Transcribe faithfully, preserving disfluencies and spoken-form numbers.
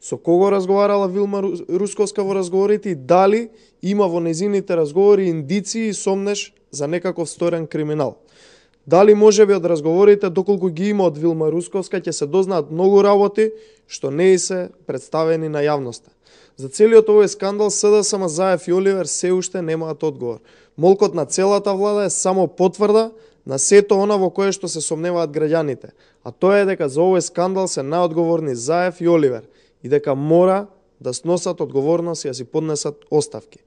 Со кого разговарала Вилма Русковска во разговорите и дали има во незините разговори индиции и сомнеш за некаков сторен криминал. Дали можеби од разговорите, доколку ги има од Вилма Русковска, ќе се дознаат многу работи што не се представени на јавноста. За целиот овој скандал СДСМ, Заев и Оливер се уште немаат одговор. Молкот на целата влада е само потврда на сето она во кое што се сомневаат граѓаните, а тоа е дека за овој скандал се наодговорни Заев и Оливер и дека мора да сносат одговорност и да си поднесат оставки.